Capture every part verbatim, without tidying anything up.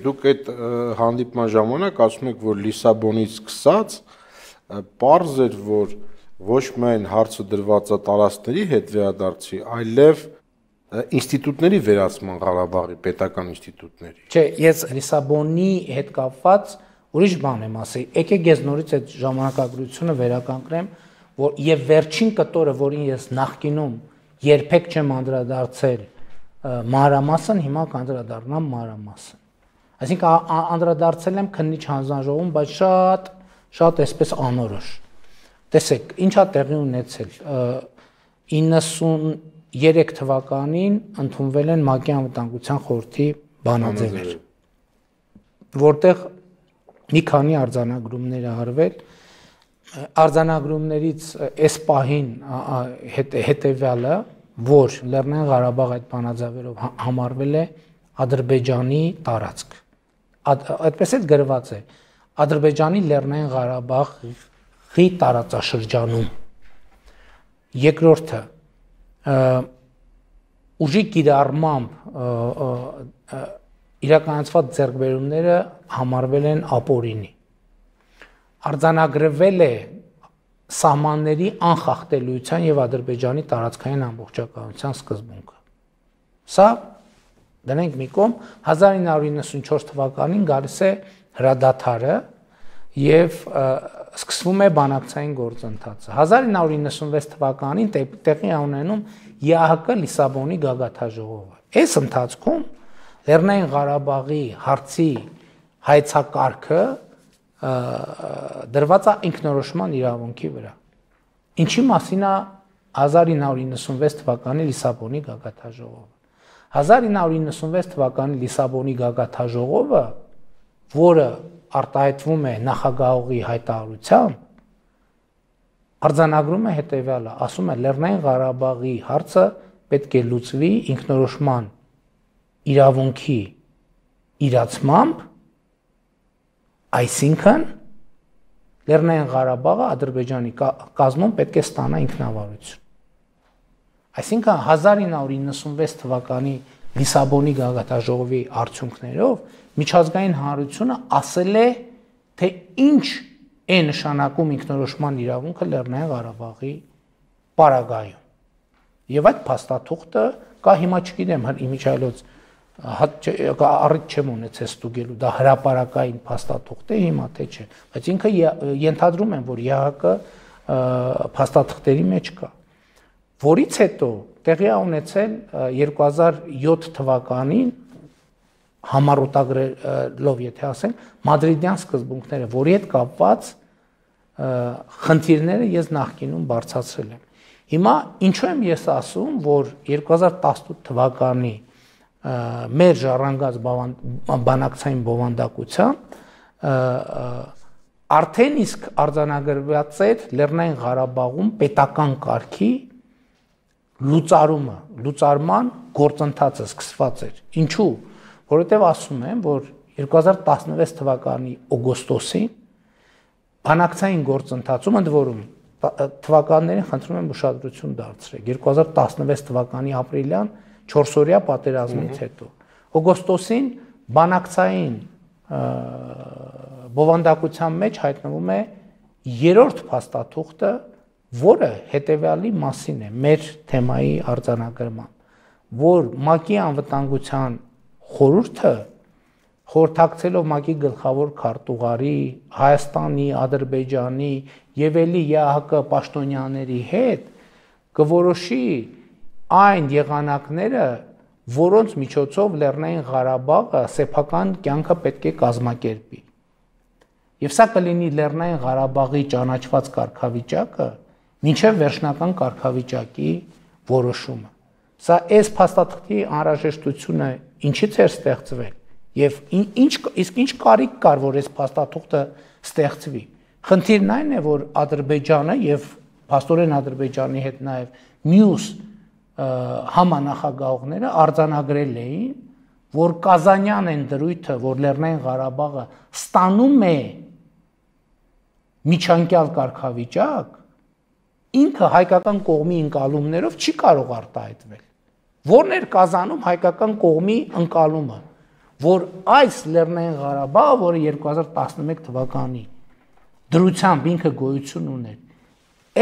Դուք այդ հանդիպման ժամանակ ասում եք, որ Լիսաբոնից սկսած պարզ էր, որ ոչ միայն հարցը դրված է տարածքների հետ վերադարձի, այլև ինստիտուտների վերացման Ղարաբաղի պետական ինստիտուտների։ Չէ, ես Լիսաբոնի հետ կապված ուրիշ բան եմ ասի։ Եկեք ես նորից այդ ժամանակագրությունը վերականգնեմ, որ եւ վերջին կտորը, որին ես նախկինում երբեք չեմ անդրադարձել մանրամասն, հիմա կանդրադառնամ մանրամասն։ Այսինքն անդրադարձել եմ քննիչ հանձնաժողովում, բայց շատ շատ այսպես անորոշ։ Տեսեք, ինչա տեղի ունեցել իննսուներեք թվականին ընդունվել են ՄԱԿ-ի անվտանգության խորհրդի բանաձևեր, որտեղ մի քանի արձանագրումներ արվել, արձանագրումներից այս պահին հետևյալը, որ Լեռնային Ղարաբաղ այդ բանաձևերով համարվել է Ադրբեջանի տարածք, այդպես էլ գրված է Ադրբեջանի Լեռնային Ղարաբաղի տարածաշրջանում։ Երկրորդը ուժի կիրառմամբ իրականացված ձեռքբերումները համարվել են ապօրինի։ Արձանագրվել է սահմանների անխախտելիության եւ Ադրբեջանի տարածքային ամբողջականության սկզբունքը։ Սա դնենք մի կողմ, հազար ինը հարյուր իննսունչորս թվականին գալիս է հրադադարը եւ սկսվում է բանակցային գործընթացը։ հազար ինը հարյուր իննսունվեց թվականին տեղի է ունենում ԵԱՀԿ Լիսաբոնի գագաթնաժողովը։ Այս ընթացքում Լեռնային Ղարաբաղի հարցի հայեցակարգը դրված է ինքնորոշման իրավունքի վրա։ Ինչի մասին է հազար ինը հարյուր իննսունվեց թվականի Լիսաբոնի գագաթնաժողովը։ հազար ինը հարյուր իննսունվեց թվականի Լիսաբոնի գագաթնաժողովը, որը արտահայտվում է նախագահողի հայտարարությամբ, արձանագրում է հետևյալը, ասում է Լեռնային Ղարաբաղի հարցը պետք է լուծվի ինքնորոշման իրավունքի իրացմամբ, այսինքն Լեռնային Ղարաբաղը Ադրբեջանի կազմում պետք է ստանա ինքնավարություն։ Այսինքն հազար ինը հարյուր իննսունվեց թվականի Լիսաբոնի գագաթնաժողովի արդյունքներով միջազգային հանրությունը ասել է, թե ինչ է նշանակում ինքնորոշման իրավունքը Լեռնային Ղարաբաղի պարագայում։ Եվ այդ փաստաթուղթը կա, հիմա չգիտեմ, իմիջիայլոց առիթ չեմ ունեցել ստուգելու, դա հրապարակային փաստաթուղթ է հիմա թե չէ, բայց ինքը ենթադրում եմ, որ ԵԱՀԿ փաստաթղթերի մեջ կա, որից հետո տեղի է ունեցել երկու հազար յոթ թվականին համառոտագրելով, եթե ասենք, Մադրիդյան սկզբունքները, որի հետ կապված խնդիրները ես նախկինում բարձրացրել եմ։ Հիմա ինչու եմ ես ասում, որ երկու հազար տասնութ թվականի մեր ժառանգած բանակցային բովանդակությամբ արդեն իսկ արձանագրված էր Լեռնային Ղարաբաղում պետական կարգի լուծարումը, լուծարման գործընթացը սկսված էր։ Ինչու՞։ Որովհետև ասում եմ, որ երկու հազար տասնվեց թվականի օգոստոսին բանակցային գործընթացում, ընդ որում թվականներին խնդրում եմ ուշադրություն դարձրեք, երկու հազար տասնվեց թվականի ապրիլյան չորսօրյա պատերազմից հետո օգոստոսին բանակցային բովանդակության մեջ հայտնվում է երրորդ փաստաթուղթը, որը հետևյալի մասին է մեր թեմայի արձանագրման, որ ՄԱԿ-ի անվտանգության խորհուրդը խորհրդակցելով ՄԱԿ-ի գլխավոր քարտուղարի, Հայաստանի, Ադրբեջանի եւ ելի ԵԱՀԿ պաշտոնյաների հետ կորոշի այն եղանակները, որոնց միջոցով Լեռնային Ղարաբաղը սեփական կյանքը պետք է կազմակերպի։ Եվ սա կլինի Լեռնային Ղարաբաղի ճանաչված կարգավիճակը մինչև վերջնական կարգավիճակի որոշումը։ Սա այս փաստաթղթի անհրաժեշտությունը ինչից էր ստեղծվել եւ ինչ իսկ ինչ կարիք կար, որ այս փաստաթուղթը ստեղծվի։ Խնդիրն այն է, որ Ադրբեջանը եւ փաստորեն Ադրբեջանի հետ նաեւ մյուս համանախագահողները արձանագրել էին, որ Կազանյան են դրույթը, որ Լեռնային Ղարաբաղը ստանում է միջանկյալ կարգավիճակ, ինքը հայկական կողմի ընկալումներով չի կարող արտահայտվել։ Որն էր Կազանում հայկական կողմի ընկալումը, որ այս Լեռնային Ղարաբաղը, որը երկու հազար տասնմեկ թվականի դրությամբ ինքը գոյություն ուներ,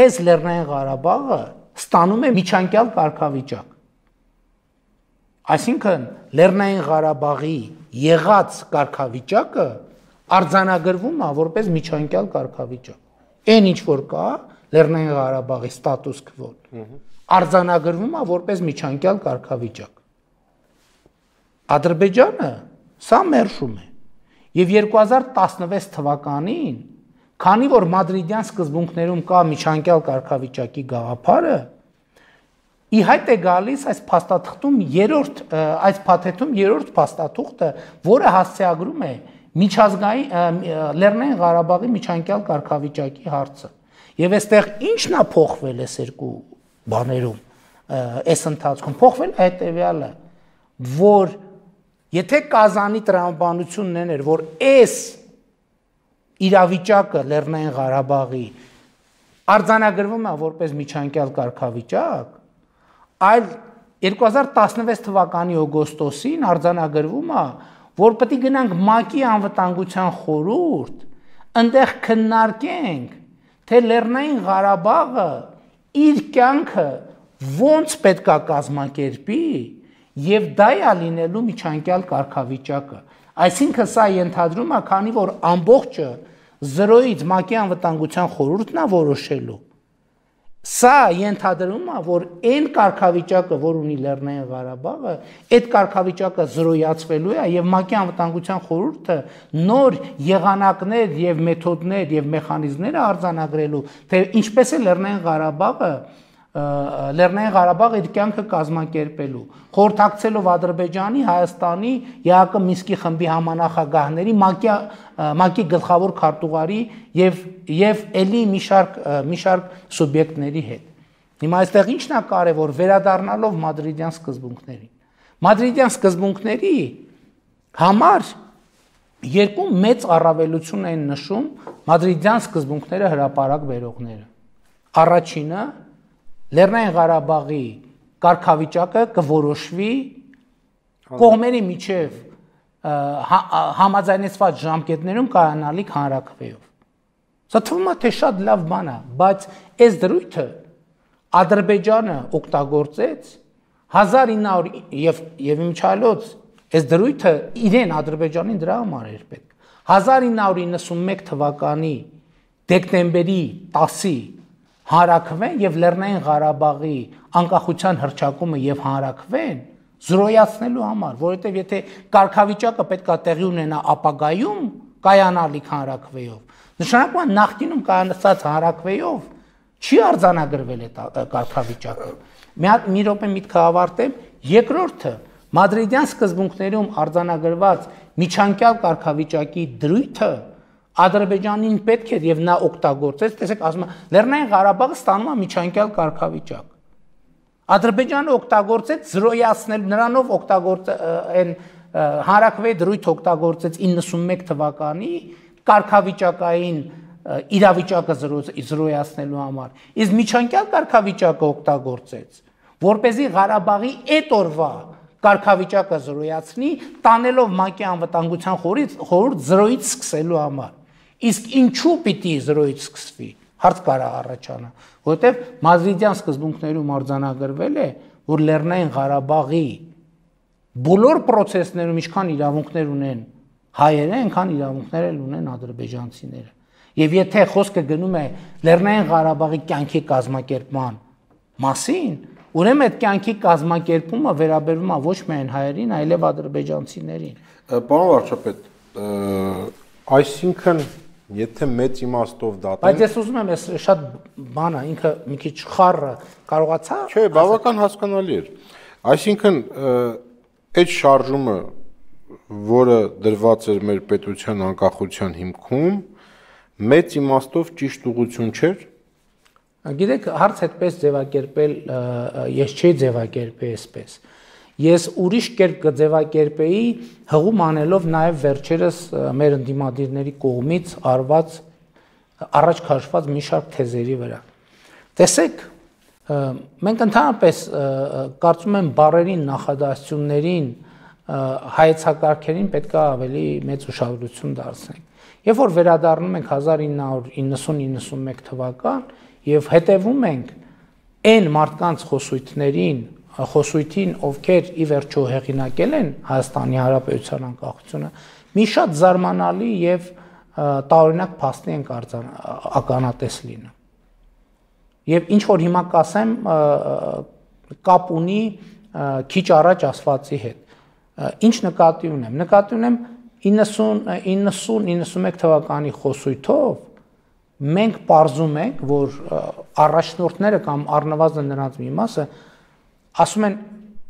այս Լեռնային Ղարաբաղը ստանում է միջանկյալ կարգավիճակ։ Այսինքն Լեռնային Ղարաբաղի եղած կարգավիճակը արձանագրվում է որպես միջանկյալ կարգավիճակ։ Այն ինչ որ կա Լեռնային Ղարաբաղի ստատուս քվոն արձանագրվում է որպես միջանկյալ կարգավիճակ։ Ադրբեջանը սա մերժում է։ Եվ երկու հազար տասնվեց թվականին, քանի որ մադրիդյան սկզբունքներում կա միջանկյալ կարգավիճակի գաղափարը, ի հայտ է գալիս այս փաստաթղթում երրորդ այս փաթեթում երրորդ փաստաթուղթը, որը հասցեագրում է միջազգային Լեռնային Ղարաբաղի միջանկյալ կարգավիճակի հարցը։ Եվ այստեղ ի՞նչն է փոխվել այս երկու բաներում, այս ընթացքում փոխվել է հետևյալը, որ եթե Կազանի տրամաբանությունն էր, որ այս իրավիճակը Լեռնային Ղարաբաղի արձանագրվում է որպես միջանկյալ կարգավիճակ, այլ երկու հազար տասնվեց թվականի օգոստոսին արձանագրվում է, որ պետք է գնանք ՄԱԿ-ի անվտանգության խորհուրդ, այնտեղ քննարկենք, թե Լեռնային Ղարաբաղը իր կյանքը ոնց պետք է կազմակերպի եւ դա է լինելու միջանկյալ կարգավիճակը։ Այսինքն սա ենթադրում է, քանի որ ամբողջը զրոյից ՄԱԿ-ի անվտանգության խորհուրդն է որոշելու, սա ենթադրում է, որ այն կարգավիճակը, որ ունի Լեռնային Ղարաբաղը, այդ կարգավիճակը զրոյացվելու է եւ ՄԱԿ-ի անվտանգության խորհուրդը նոր եղանակներ եւ մեթոդներ եւ մեխանիզմներ արձանագրելու, թե ինչպես է Լեռնային Ղարաբաղը Լեռնային Ղարաբաղը իր կյանքը կազմակերպելու, խորհրդակցելով Ադրբեջանի, Հայաստանի, ԵԱԿ Մինսկի խմբի համանախագահների, ՄԱԿ-ի գլխավոր քարտուղարի եւ եւ ելի մի շարք մի շարք սուբյեկտների հետ։ Հիմա այստեղ ի՞նչն է կարևոր, վերադառնալով մադրիդյան սկզբունքներին։ Մադրիդյան սկզբունքների համար երկու մեծ առավելություն են նշում մադրիդյան սկզբունքները հրապարակ բերողները։ Առաջինը Լեռնային Ղարաբաղի կարգավիճակը կորոշվի կողմերի միջև համաձայնեցված ժամկետներում կայանալիք հանրաքվեով։ Սա թվում է թե շատ լավ բան է, բայց այս դրույթը Ադրբեջանը օգտագործեց հազար ինը հարյուր եւ եւ իմչալոց այս դրույթը իրեն Ադրբեջանին դրա համար էր պետք։ հազար ինը հարյուր իննսունմեկ թվականի դեկտեմբերի տասի հանրաքվեն եւ Լեռնային Ղարաբաղի անկախության հռչակումը եւ հանրաքվեն զրոյացնելու համար, որովհետեւ եթե կարգավիճակը պետքա տեղի ունենա ապագայում կայանալիք հանրաքվեով, նշանակում է նախկինում կայանացած հանրաքվեով չի արձանագրվել այդ կարգավիճակը։ Մի հատ մի րոպե միտքը ավարտեմ, երկրորդը մադրիդյան սկզբունքներում արձանագրված միջանկյալ կարգավիճակի դրույթը Ադրբեջանին պետք է եւ նա օգտագործեց, տեսեք, ասում եմ, Լեռնային Ղարաբաղը ստանում է միջանկյալ կարգավիճակ։ Ադրբեջանը օգտագործեց զրոյացնել, նրանով օգտագործ այն հանրաքվեի դրույթ օգտագործեց իննսունմեկ թվականի կարգավիճակային իրավիճակը զրոյացնելու համար։ Իսկ միջանկյալ կարգավիճակը օգտագործեց, որպեսզի Ղարաբաղի այդ օրվա կարգավիճակը զրոյացնի, տանելով ՄԱԿ-ի անվտանգության խորհուրդ զրոյից սկսելու համար։ Իսկ ինչու պիտի զրոյից սկսվի, հարց կարա առաջանա, որովհետև մադրիդյան սկզբունքներում արձանագրվել է, որ Լեռնային Ղարաբաղի բոլոր process-ներում ինչքան իրավունքներ ունեն հայերը, այնքան իրավունքներ էլ ունեն ադրբեջանցիները։ Եվ եթե խոսքը գնում է Լեռնային Ղարաբաղի կյանքի կազմակերպման մասին, ուրեմն այդ կյանքի կազմակերպումը վերաբերվում է ոչ միայն հայերին, այլև ադրբեջանցիներին։ Պարոն վարչապետ, այսինքն եթե մեծ իմաստով դատեն, բայց ես ուզում եմ ես շատ բան է, ինքը մի քիչ խառը կարողացա։ Չէ, բավական հասկանալի էր։ Այսինքն այդ շարժումը, որը դրված էր մեր պետության անկախության հիմքում, մեծ իմաստով ճիշտ ուղղություն չէր։ Գիտեք, հարց այդպես ձևակերպել ես չի ձևակերպել այսպես։ Ես ուրիշ կերպ կձևակերպեի հղում անելով նաև վերջերս մեր ընդդիմադիրների կողմից արված առաջ քաշված մի շարք թեզերի վրա։ Տեսեք, մենք ընդհանրապես կարծում եմ բառերին, նախադասություններին հայեցակարգերին պետք է ավելի մեծ ուշադրություն դարձնենք։ Երբ որ վերադառնում ենք հազար ինը հարյուր իննսուն իննսունմեկ թվական եւ հետեւում ենք այն մարդկանց խոսույթներին, խոսույթին, ովքեր ի վերջո հեղինակել են Հայաստանի Հանրապետության անկախությունը, մի շատ զարմանալի եւ տարօրինակ փաստի ենք ականատես լինում։ Եվ ինչ որ հիմա կասեմ, կապ ունի քիչ առաջ ասվածի հետ։ Ինչ նկատի ունեմ։ Նկատի ունեմ իննսուն իննսունմեկ թվականի խոսույթով մենք պարզում ենք, որ առաջնորդները կամ առնվազն նրանց մի մասը ասում են,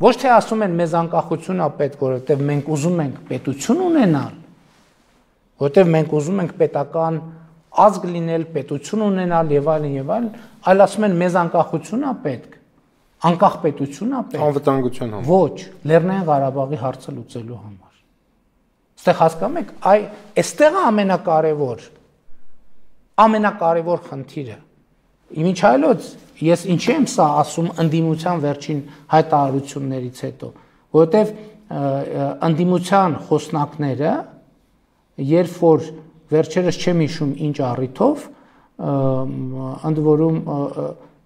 ոչ թե ասում են մեզ անկախություն է պետք, որովհետև մենք ուզում ենք պետություն ունենալ, որովհետև մենք ուզում ենք պետական ազգ լինել, պետություն ունենալ եւ այլն եւ այլն, այլ ասում են մեզ անկախություն է պետք, անկախ պետություն է պետք։ Անվտանգության համար։ Ոչ, Լեռնային Ղարաբաղի հարցը լուծելու համար։ Այստեղ հասկանում եք, այ այստեղ է ամենակարևոր ամենակարևոր խնդիրը։ Ինչ այլոց ես ինչի եմ սա ասում ընդդիմության վերջին հայտարարություններից հետո, որովհետև ընդդիմության խոսնակները, երբ որ վերջերս չեմ հիշում ինչ առիթով, ընդ որում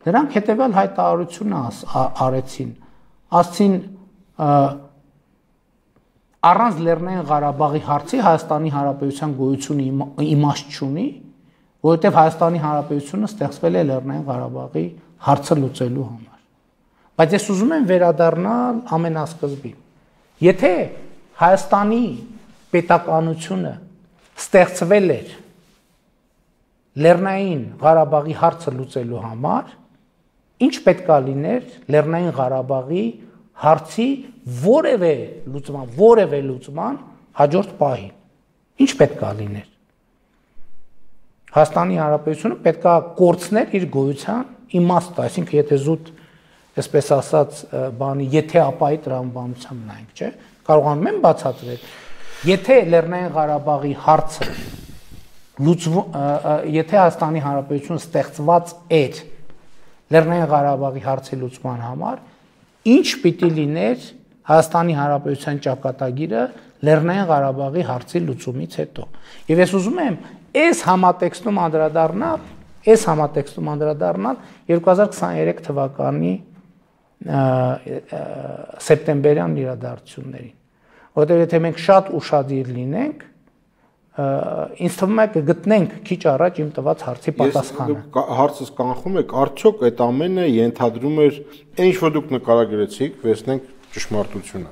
նրանք հետևյալ հայտարարություն արեցին, ասցին առանց Լեռնային Ղարաբաղի հարցի Հայաստանի Հանրապետության գոյությունը իմաստ չունի, որովհետև Հայաստանի Հանրապետությունը ստեղծվել է Լեռնային Ղարաբաղի հարցը լուծելու համար։ Բայց ես ուզում եմ վերադառնալ ամենասկզբին։ Եթե Հայաստանի պետականությունը ստեղծվել էր Լեռնային Ղարաբաղի հարցը լուծելու համար, ինչ պետք է լիներ Լեռնային Ղարաբաղի հարցի որևէ լուծման, որևէ լուծման հաջորդ պահին։ Ինչ պետք է լիներ։ Հայաստանի Հանրապետությունը պետք է կորցներ իր գոյության իմաստը, այսինքն եթե զուտ, այսպես ասած, բանի եթե ապայի տրամաբանությամբ նայենք, չէ՞, կարողանում եմ բացատրել։ Եթե Լեռնային Ղարաբաղի հարցը լուծվում, եթե Հայաստանի Հանրապետությունը ստեղծված էր Լեռնային Ղարաբաղի հարցի լուծման համար, ինչ պիտի լիներ Հայաստանի Հանրապետության ճակատագիրը Լեռնային Ղարաբաղի հարցի լուծումից հետո։ Եվ ես ուզում եմ այս համատեքստում անդրադառնալ, այս համատեքստում անդրադառնալ երկու հազար քսաներեք թվականի սեպտեմբերյան իրադարձություններին, որովհետև եթե մենք շատ ուշադիր լինենք, ինձ թվում է կգտնենք քիչ առաջ իմ տված հարցի պատասխանը։ Հարցս կանխում եք, արդյոք այդ ամենը ենթադրում էր այն ինչ որ դուք նկարագրեցիք, վերցնենք ճշմարտությունը։